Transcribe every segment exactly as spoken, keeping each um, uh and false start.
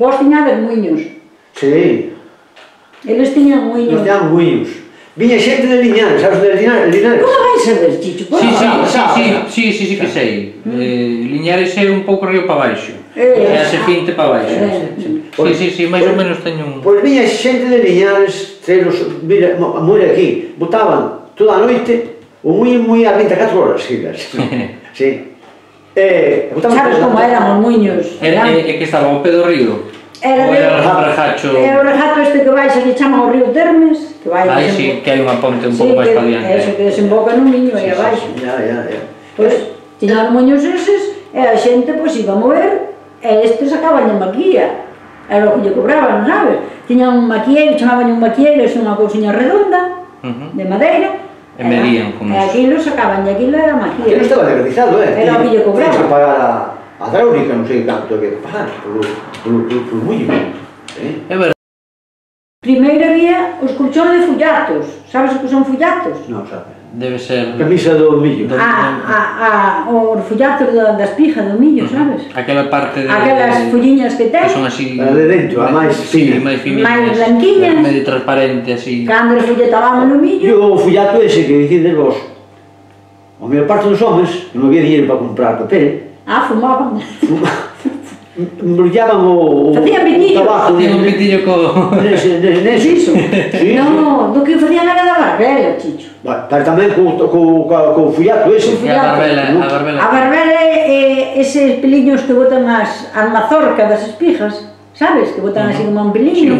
Vos tiñades muiños. Sí. Eles tiñan muiños. Nos tiñan muiños. Viña xente de Liñares, sabes de Liñares? Como vais saber, Chicho? Sí, sí, sí, sí, sí que sei. Liñares é un pouco río para baixo. É a serpinte para baixo. Sí, sí, sí, máis ou menos teño un... Pois viña xente de Liñares, mira, a moira aquí, botaban toda a noite o muiño moi a vinte e catro horas, gigas. Sí. Sabes como eran os muiños? É que estaba ao pé do río. Era o rejacho... É o rejacho este que vais, que chaman o río Termes. Aí sí, que hai unha ponte un pouco máis para diante. Sí, eso que desemboca no miño aí abaixo. Ya, ya, ya. Pois, tiñan os muiños eses, e a xente, pois, iba a mover, e estes sacaban a maquilla. Era o que lle cobraban, sabes? Tiñan un maquilleiro, chamaban un maquilleiro, é unha cousiña redonda, de madeira, e medían como e aquilo sacaban, e aquilo era maquilla. Aquilo estaba legalizado, eh? Era o que lle cobraban. Tens que pagar a hidráulica, non sei canto que pagar, polo muiño. É verdade. Primeiro había os colchóns de fullatos. Sabes o que son fullatos? Non, sabe. Debe ser... Camisa do millo. Os fullatos das pijas do millo, sabes? Aquela parte de... Aquelas folliñas que ten. Que son así... A de dentro, a máis fina. máis finitas. Máis blanquiñas. Medio transparente, así. Cando folletábamos no millo... E o fullato ese que dicides vos, a maior parte dos homens non había dinheiro para comprar papel. Ah, fumaban. Embrulhaban o tabaco. Facían un pitillo co... Nese iso? Non, do que facían era da barbela, Chicho. Pero tamén co fullato ese. A barbela. A barbela é eses peliños que botan as mazorcas das espijas, sabes? Que botan así como un peliño.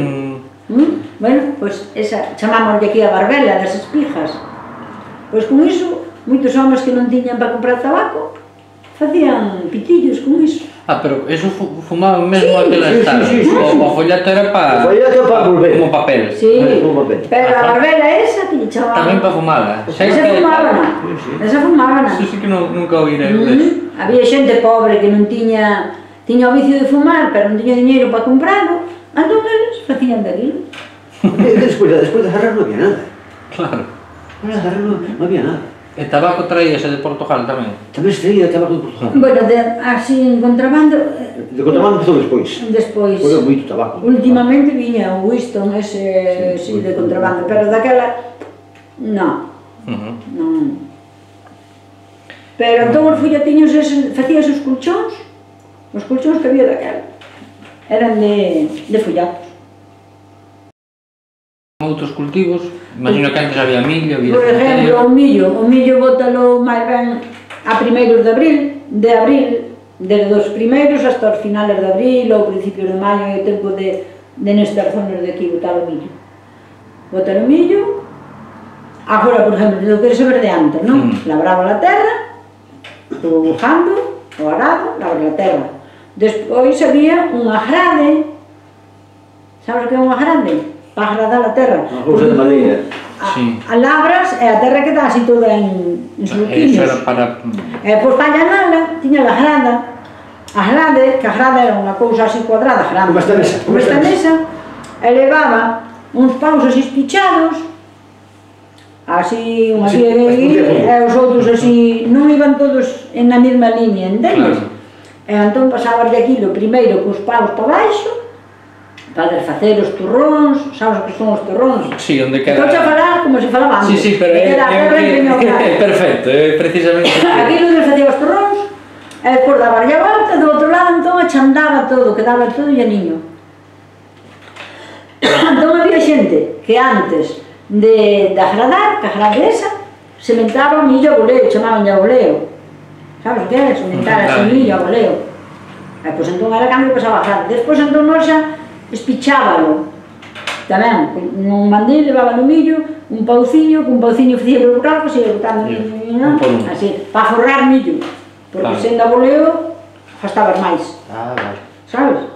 Bueno, pois esa chamámoslle aquí a barbela das espijas. Pois con iso, moitos homens que non tiñan para comprar tabaco facían pitillos con iso. Ah, pero eso fumaban mesmo aquelas talas. O follato era para... O follato era para volver. Como papel. Sí, pero a barbela esa que lle chamaban... Tamén para fumala. Esa fumábana. Esa fumábana. Eso sí que nunca oírei. Había xente pobre que non tiña... Tiña o vicio de fumar, pero non tiña diñeiro para comprarlo. Entón eles facían daquilo. Despois de Jarras non había nada. Claro. Despois de Jarras non había nada. E tabaco traíase de Portugal tamén? Tamén se traía tabaco de Portugal. Bueno, así en contrabando... De contrabando empezou despois. Despois. Foi moito tabaco. Últimamente viña o Winston ese, sí, de contrabando, pero daquela... Non. Non. Pero entón os follatiños facías os colchóns, os colchóns que había daquela. Eran de follatos. Outros cultivos, imagino que antes había millo, había... Por exemplo, o millo, o millo bótalo máis ben a primeiros de abril, de abril, desde os primeiros hasta os finales de abril ou principios de maio, é o tempo de nestas zonas de aquí botar o millo. Botar o millo, agora, por exemplo, do que se verde antes, non? Labraba a terra, o jando, o arado, labra a terra. Despois había unha grade, sabes o que é unha grade? Para agradar a terra. Unha cousa de madeira. A labras e a terra queda así toda en soluquiños. Eso era para... E pois para allanala, tiña a grada. A grade, que a grada era unha cousa así cuadrada, grande. Como esta mesa. Como esta mesa. E levaba uns paus así espichados, así, un así, e os outros así, non iban todos na mesma liña, entendes? E entón pasabas de aquilo primeiro cos paus para baixo, para desfacer os turróns, sabes o que son os turróns? Sí, onde queda... Estou a falar como se falaba antes. Sí, sí, pero é... É perfecto, é precisamente... Aquilo desfacía os turróns, e despois daba a volta, do outro lado, entón achandaba todo, quedaba todo llaniño. Entón había xente que antes de agradar, que agrade esa, sementaba millo a boleo, chamaban a boleo. Sabes o que é? Sementar así millo a boleo. E pois entón era cando pasaba a agrade. Despois entón nós xa espichábalo tamén, nun mandil levaba no millo un pauciño, cun pauciño facía polo cargo, se ia botando millo, así, para forrar millo, porque sendo a boleo gastabas máis, sabes?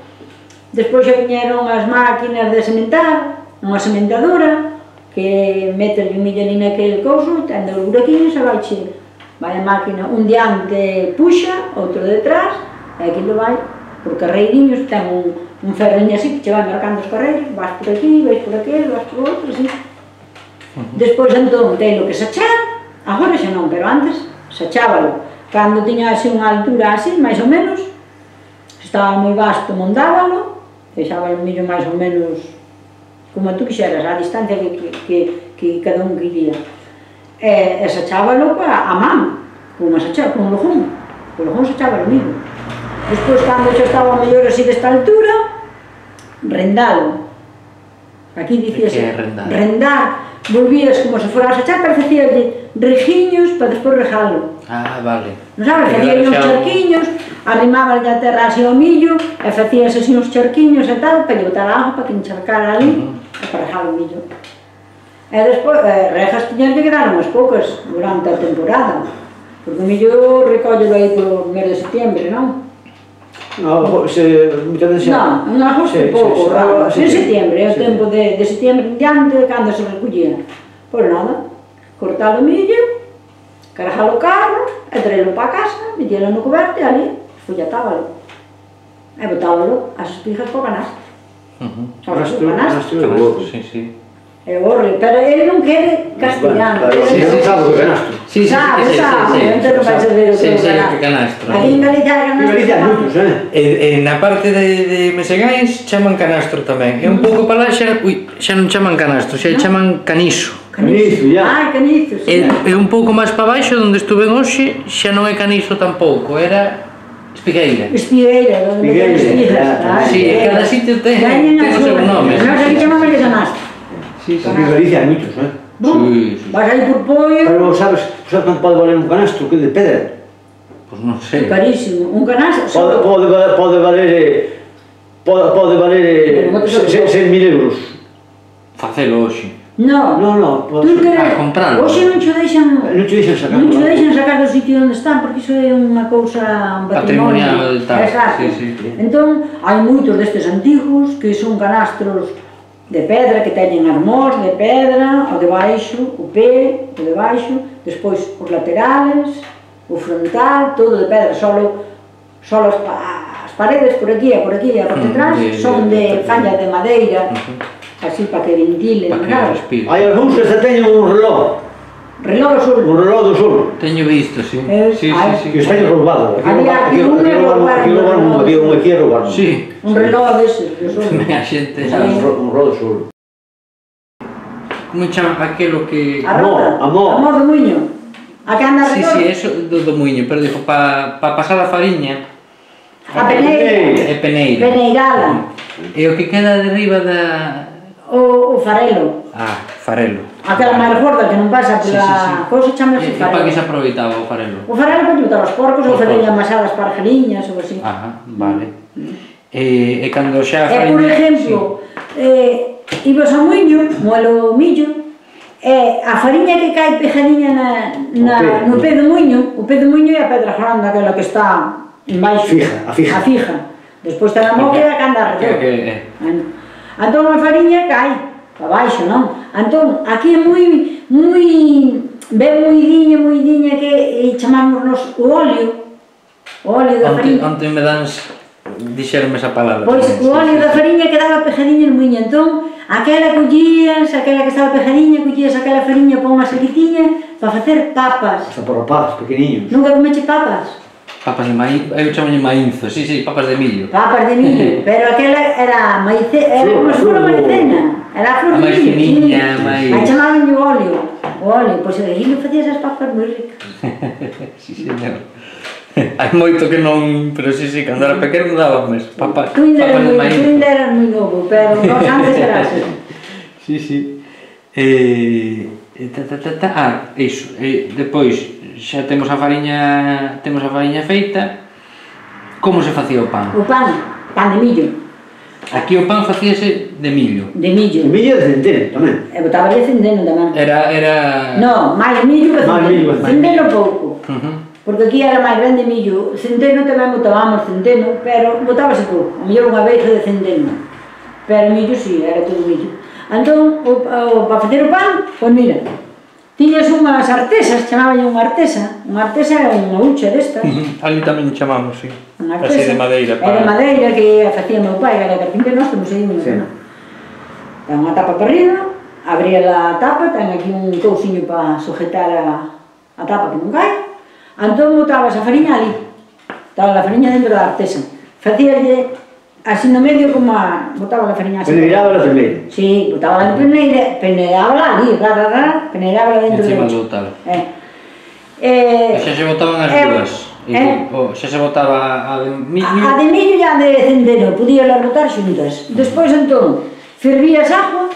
Despois xa viñeron as máquinas de sementar, unha sementadora que metes o millo ali naquele couso, ten os buraquiños e vai che vai a máquina, un diante puxa, outro detrás, e aquilo vai por carreiriños, ten un un ferreño así, que che vai marcando os carreiros, vas por aquí, vais por aquel, vas por outro, así. Despois, entón, telo que sachar, agora xa non, pero antes sachábalo. Cando tiña así unha altura así, máis ou menos, estaba moi vasto, mondábalo, deixaba o millo máis ou menos como tú quixeras, a distancia que, que, que cada un quería. E, e sachábalo a, a man, como se achaba, con un lojón. O lojón se achaba o millo. Despois, cando xa estaba mellor así desta altura, rendalo. Aquí dicíase, que é rendar? rendar, volvías como se fora a sachar, pero facíalle rejiños para despois rejalo. Ah, vale. Non sabes, facíalle uns charquiños, arrimaban a terra así ao millo, e facías así uns charquiños e tal, para lle botar a agua, para que encharcara ali, uh -huh. e para rejar o millo. E despois, eh, rejas tiñas que quedar unhas poucas durante a temporada, porque o millo recollelo aí polo mes de setembro, non? No, se... Non, en agosto pouco, en setembro, é o tempo de setembro en diante, cando se recollía. Pois nada, cortar o millo, carregar o carro, e traelo para casa, metelo no coberto e ali, folletábalo. E botábalo as espigas para o canasto. Canasto, canasto, sí, sí. É horrible, pero ele non quere castellano. Sí, sí, sabe o canastro. Sí, sabe, sabe, entón non vai saber o que é o canastro. Aquí en Galicia é canastro. En Galicia hai moitos, eh? Na parte de Mesegáns chaman canastro tamén. É un pouco para lá xa, ui, xa non chaman canastro, xa chaman canizo. Canizo, ya. Ah, canizo, sí. É un pouco máis para baixo, onde estuve hoxe, xa non é canizo tampouco, era espigueira. Espigueira, onde Espigueira, metemos espigas. Sí, cada sitio ten o seu nome. Nós aquí chamamos de canastro. Sí, sí. En Galicia hai moitos, eh? Sí, sí. Vas aí por pollo... Pero sabes, sabes quanto pode valer un canastro que de pedra? Pois non sei. Carísimo. Un canastro... Pode, pode, pode valer... Pode, pode valer seis mil euros. Facelo hoxe. No, no, no, tú que... A comprarlo. Hoxe non che deixan... Non che deixan sacar. Non che deixan sacar do sitio onde están, porque iso é unha cousa, un patrimonio. Patrimonial tal. Exacto. Sí, sí. Entón, hai moitos destes antigos que son canastros de pedra, que teñen armós de pedra, o de baixo, o pé, o de baixo, despois os laterales, o frontal, todo de pedra, solo, solo as, as paredes por aquí e por aquí e por detrás son de falla de madeira, así para que ventilen, claro. Hai algúns que se teñen un reloj. Reloj do sur. Un reloj do sur. Teño visto, sí. Sí, sí, sí. Que está roubado. Había aquí un reloj, había un aquí a roubar. Sí. Un reloj deses, do sur. A xente... Un reloj do sur. Como chama aquelo que... A rota. Amor. Amor do muiño. A que anda Sí, redor. sí, eso do, do muiño, pero dixo, para pa pasar a fariña... A peneira. É peneira. Peneirala. E o que queda de riba da... O, o farelo. Ah, farelo. Aquela máis gorda que non pasa Sí, pola sí, sí. cousa chamase E para que se farelo. aproveitaba o farelo? O farelo para botar os porcos ou Os fazer porcos. amasadas para jariñas ou así. Ajá, vale. E, e cando xa a E, fariña... por exemplo, eh, ibas ao muiño, moelo o millo, e a fariña que cae pejadiña na, na, no pé do muiño, o pé do muiño é a pedra grande, aquela que está en baixo. Fija, a fija. A fija. Despois está na moca e a que anda Que, arredor. que, Entón a fariña cae para baixo, non? Entón, aquí é moi, moi, ben moidiña, moidiña que e chamámonos o óleo, o óleo da onte, fariña. onte me dans... Dixeronme esa palabra. Pois o óleo da fariña quedaba pejadiña no muiño, entón, aquela collías, aquela que estaba pejadiña, collías aquela fariña para unha saquitiña para facer papas. Hasta por papas, pequeniños. Nunca comeche papas? Papas de maíz, eu chamo maínzo, sí, sí, papas de millo. Papas de millo, pero aquela era maice, era como se fora maicena, era a flor A de máis millo. finiña, máis... Aí chamaban o óleo, o óleo, pois aí non facía esas papas moi ricas. Sí, señor. Hai moito que non... Pero sí, sí, cando era pequeno dábame papas, Tú ainda eras papas de moi, maíz. tú ainda eras moi novo, pero nós antes era así. Sí, sí. Eh, eh, ta, ta, ta, ta. Ah, iso. Eh, depois, xa temos a fariña, temos a fariña feita. Como se facía o pan? O pan, pan de millo, Aquí o pan facíase de millo. de millo. O millo de centeno tamén. E botaba de cendeno tamén. Era... era... No, máis millo que Máis millo, cendeno. máis Cendeno pouco. Uh -huh. Porque aquí era máis grande millo. Centeno tamén botábamos centeno, pero botábase pouco. A mellor unha veixa de centeno. Pero millo si, sí, era todo millo. Entón, o, o, para facer o pan, pois mira, tiñas unhas artesas, chamaban unha artesa. Unha artesa era unha hucha destas. Uh -huh. Ali tamén chamamos, sí. Unha Así artesa. de madeira. Era de madeira que a facía meu pai, que era carpinteiro, nós temos aí unha Sí. zona. Ten unha tapa para arriba, abría a tapa, ten aquí un cousiño para sujetar a, a tapa que non cae. Entón botabas a fariña ali, estaba a fariña dentro da artesa. Facíalle así no medio como a... botaba a fariña así. Peneiraba la primeira. Sí, botaba a peneira, peneiraba ali, ra, ra, ra, peneiraba dentro Encima do do tal. Eh. Eh, Xa se botaban as eh, dúas. eh, Xa se botaba a de millo. A de millo e a de centeno, podía las botar xuntas. Despois, entón, fervías agua,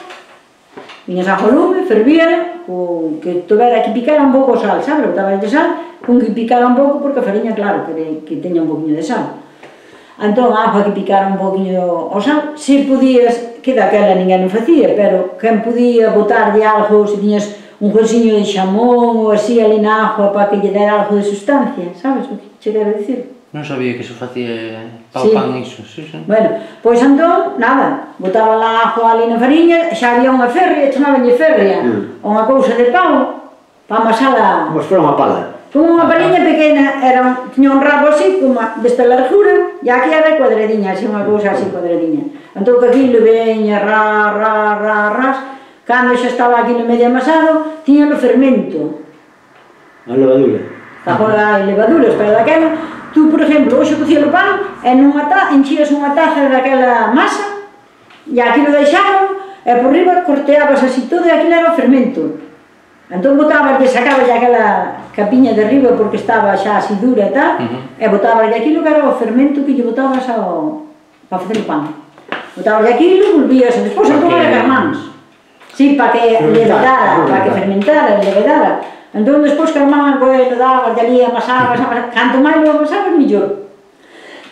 viñas agua ao lume, fervíala, con que tuvera que picara un pouco o sal, sabes? Botaba de sal, con que picara un pouco, porque a fariña, claro, que, que teña un poquinho de sal. Entón, a agua que picara un poquinho o sal, se podías, que daquela ninguén o facía, pero quen podía botar de algo, se tiñas un huesiño de xamón ou así ali na agua para que lle dera algo de sustancia, sabes o que che quero dicir? Non sabía que se facía pa Sí. o pan iso, sí, sí. Bueno, pois entón, nada, botaba a agua ali na fariña, xa había unha ferria, chamabanlle ferria, Mm. unha cousa de pau, para amasala, Como se fora unha pala. como unha paliña pequena, era, un- tiña un rabo así, como a- desta largura, e aquí era cuadradiña, así unha cousa así cuadradiña. Entón que aquilo veña, ra, ra, ra, ras, cando xa estaba aquí no medio amasado, tiña o fermento, A levadura. agora hai levaduras, pero daquela, tú, por exemplo, hoxe cocía o pan, e nunha ta, enchías unha taza daquela masa, e aquilo deixaban, e por riba corteabas así todo, e aquilo era o fermento. Entón botabas, e sacabas aquela capiña de riba, porque estaba xa así dura e tal, Ujú. e botabas aquilo que era o fermento que lle botabas ao, para facer o pan. Botabas aquilo, volvías, e despois entón Porque- era carmáns. Sí, para que levedara, para que fermentara, levedara. Entón, despois que armaban coelho, dabas, de ali amasabas, amasabas, canto máis lo amasabas, millor.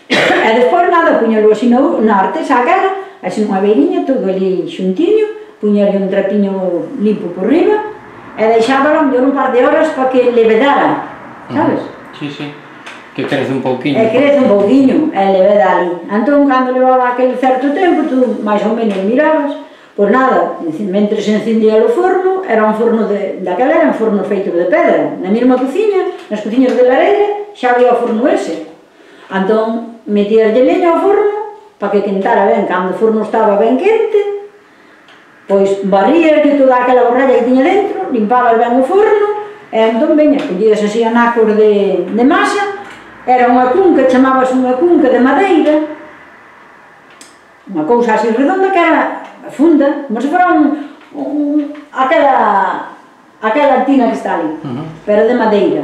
E despois nada, puñalo así no, na artesa aquela, así nunha beiriña, todo ali xuntiño, puñale un trapiño limpo por riba, e deixábalo mellor un par de horas para que levedara, sabes? Sí, sí. Que crece un pouquiño. E crece un pouquiño, e leveda ali. Entón, cando levaba aquel certo tempo, tú máis ou menos mirabas, pois nada, mentre se encendía o forno, era un forno de, daquela era un forno feito de pedra, na mesma cociña, nas cociñas de Lareira, xa había o forno ese. Entón, metías de leña ao forno, para que quentara ben, cando o forno estaba ben quente, pois barrías de toda aquela borralla que tiña dentro, limpabas ben o forno, e entón, veña, collías así anacos de, de masa, era unha cunca, chamabas unha cunca de madeira, unha cousa así redonda que era funda, como se fora un, un, aquela, aquela tina que está ali, Ujú. pero de madeira.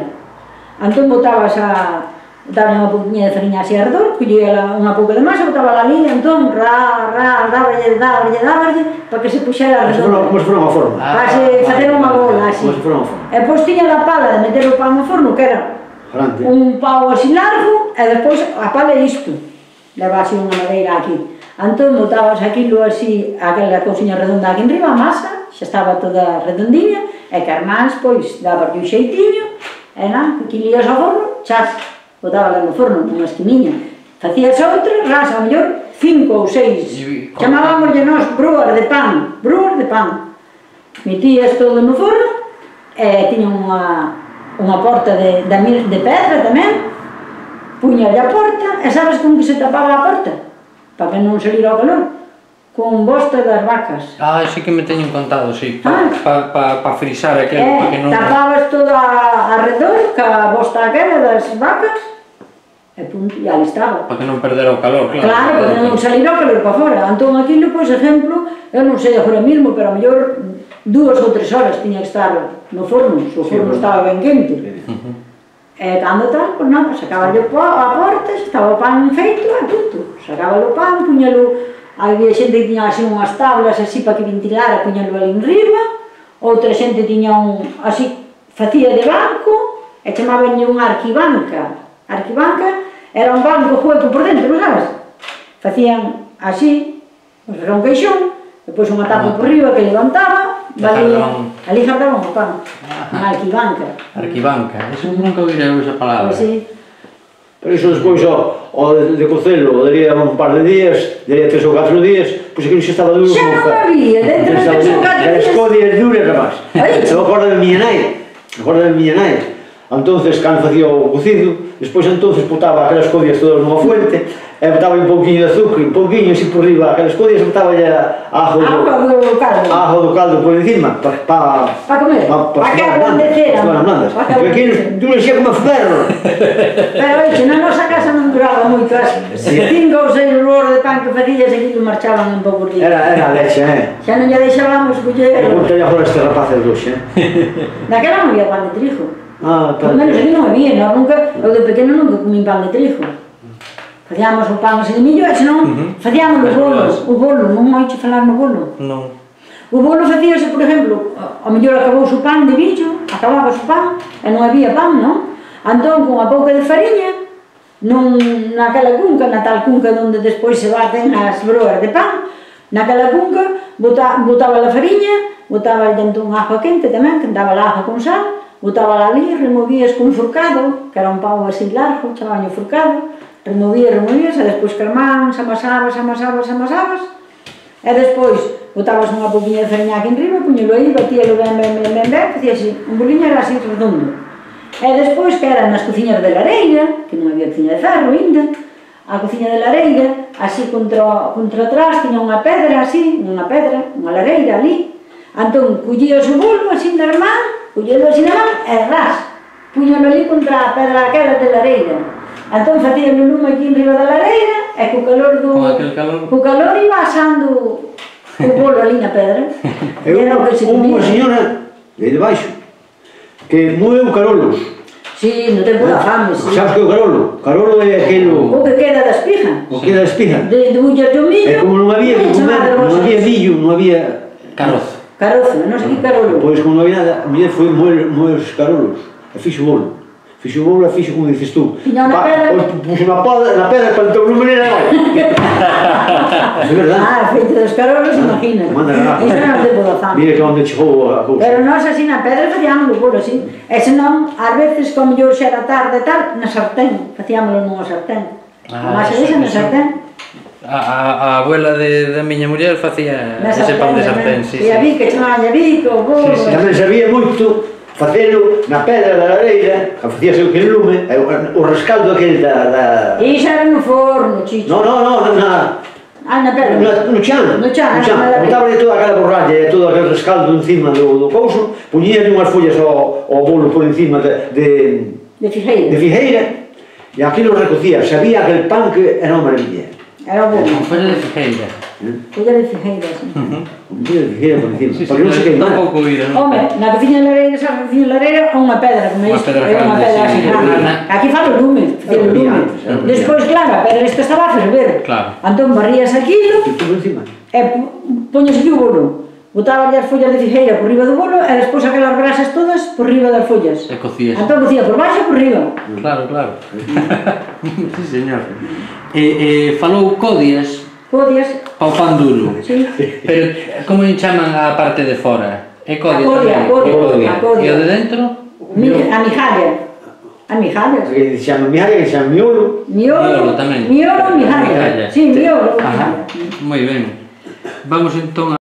Entón botabas a, botabas unha pouquinha de fariña así a redor, collía unha pouca de masa, botaba a liña, entón, ra, ra, dáballe, dáballe, dáballe, para que se puxera Como se fora- redonda. como se fora unha forma. Ah, Para se vale, facer unha vale, bola vale. así. Como se fora unha forma. E pois tiña a pala de meter o pan no forno, que era Grande. un pau así largo, e despois a pala é isto, leva así unha madeira aquí. Entón botabas aquilo así, aquela cousiña redonda aquí enriba, a masa, xa estaba toda redondiña, e carmáns, pois, dabas un xeitiño, e nada, que lías ao forno, chas, botabas no forno, nunha esquiniña. Facías outra, ras, a mellor, cinco ou seis, E con- chamábamos nós brúas de pan, brúas de pan. Metías todo no forno, e tiña unha, unha porta de, de, mil- de pedra tamén, puñalle a porta, e sabes con que se tapaba a porta? Para que non salira o calor, con bosta das vacas. Ah, sí que me teñen contado, sí. Ah. Para pa, pa frisar aquel, E para que non... tapabas toda arredor, ca bosta aquela das vacas, e punto, e ali estaba. Para que non perdera o calor, claro. Claro, porque non salira o calor para fora. Entón, aquilo, pois, exemplo, eu non sei agora mesmo, pero a mellor dúas ou tres horas tiña que estar no forno, se o forno estaba ben quente. E cando tal, pois nada, sacaba o pó a porta, estaba o pan feito, e punto. Sacaba o pan, puñalo, había xente que tiña así unhas tablas así para que ventilara, puñalo ali en riba, outra xente tiña un, así, facía de banco, e chamabanlle unha arquibanca. Arquibanca era un banco hueco por dentro, non sabes? Facían así, pois era un queixón, depois unha tapa por riba que levantaba, valía, Dejaron- ali jardaban o pan, unha arquibanca. Arquibanca, eso nunca oíra esa palabra. Pois sí. Pero iso despois, o, o de, de cocelo, daría un par de días, daría tres ou catro días, pois aquilo xa estaba duro Xa como non fa- había, dentro de tres ou catro As días. codias duras, rapaz. Ai. Eu acordo de miña nai, acordo de miña nai. entonces, cando facía o cocido, despois entonces botaba aquelas codias todas nunha fuente, e botaba un pouquinho de azúcar, un pouquinho así por riba, aquelas codias, e botaba ya ajo do, Agua do caldo. ajo do caldo por encima, para pa, Pa comer, pa, pa que ablandecera. Para blandas. Pa que Porque aquí ablandecera. tú lexía como ferro. Pero oixe, na nosa casa non duraba moito, as cinco ou seis rolos de pan que facías e que marchaban en pouco días. Era, era leche, eh? Xa non lle deixábamos E coller. conta ya por este rapaces dos, eh? Daquela non había pan de trigo. Ah, Por menos aquí non había, nós nunca, eu de pequeno nunca comín pan de trigo. Facíamos o pan así de millo, e senón facíamos os bolos, o bolo, non oiche falar no bolo. Non. O bolo facíase, por exemplo, ao mellor acabouse o pan de billo, acababas o pan, e non había pan, non? Entón, con a pouca de fariña, non naquela cunca, na tal cunca onde despois se baten as broas de pan, naquela cunca, bota, botaba a fariña, botaba dentro un agua quente tamén, quentaba a agua con sal, botaba ali, removías con furcado, que era un pau así largo, chamaban furcado, removías, removías, e despois calmán, se amasabas, amasabas, amasabas, e despois botabas unha pouquinha de fariña aquí en riba, puñelo aí, batíalo ben, ben, ben, ben, ben, facía así, un boliño era así redondo. E despois, que eran nas cociñas de lareira, que non había cociña de ferro ainda, a cociña de lareira, así contra, contra atrás, tiña unha pedra así, unha pedra, unha lareira ali, entón, collías o bolo así na man, collelo así na man, e ras, puñelo ali contra a pedra aquela de lareira. Entón, facía o lume aquí en riba da lareira, e co calor do... Con aquel calor... Co calor iba asando o bolo ali na pedra. E Era o que se unha comía. señora, de aí debaixo, que moeu carolos. Sí, no tempo da fame, sí. Sabes que é o carolo? Carolo é aquelo... O que queda da espiga. O que é da espiga. De, de bullas do millo. E como non había que comer, non había millo, non había... Carozo. Carozo, non sei que carolo. Pois como non había nada, a muller foi moer, moer os carolos, e fixo o bolo. Fixo o bolo e fixo como dices tú. Tiña unha Pa- pedra. pois puxo na pedra, na pedra, plantou no menino e vai. É verdade. Ah, feito dos carolos, imagina. Manda garrafa. Iso non tempo da fame. Mira que onde chegou a cousa. Pero nós así na pedra facíamos o bolo así. E senón, ás veces, como mellor xa era tarde e tal, na sartén. Facíamolo nunha sartén. Ah, A masa eso, esa na eso. sartén. A, a, a abuela de, da miña muller facía Na ese pan de sartén, sartén, sí, E a sí. bica, chamaban a bica, o bolo. Sí, sí. Tamén sabía moito facelo na pedra da lareira, que facíase o que lume, e o, o rescaldo aquel da... da... E iso era no forno, chicho. No, no, no, na... Ah, na pedra. No, no chan, No chan, no chan. na lareira. Botaba toda aquela borralla e todo aquele rescaldo encima do, do couso, puñía unhas follas ao, ao bolo por encima de, de, De figueira. de figueira, e aquilo recocía, sabía aquel pan que era unha maravilla. Era o bolo. Con folha de figueira. Folla de figueira, sí. Un poquinho de figueira por encima, Sí, sí, para que non se un queimara. pouco oído, non? Home, na cociña de lareira, sabes, na cociña de lareira, unha pedra, como Unha isto. pedra É unha grande, pedra sí, así grande. grande. Aquí falo o lume, facía o lume. Era brillante. Despois, claro, a pedra esta estaba a ferver. Claro. Entón, barrías aquilo, E todo encima. e poñes o bolo. Botaba as follas de figueira por riba do bolo, e despois aquelas brasas todas por riba das follas. E cocías. Entón, cocía por baixo e por riba. Claro, claro. Sí, señor. E, e falou codias Codias, ao pan duro. sí. Pero como lle chaman a parte de fora? É codia A codia, tamén? a codia, É codia. a codia. E o de dentro? Mi, a mijalla. A mijalla. Que se chama miaga, que se chama miolo. Miolo, Miolo tamén. miolo, mijalla. Mijalla. Sí, miolo. Ajá. Moi ben. Vamos entón a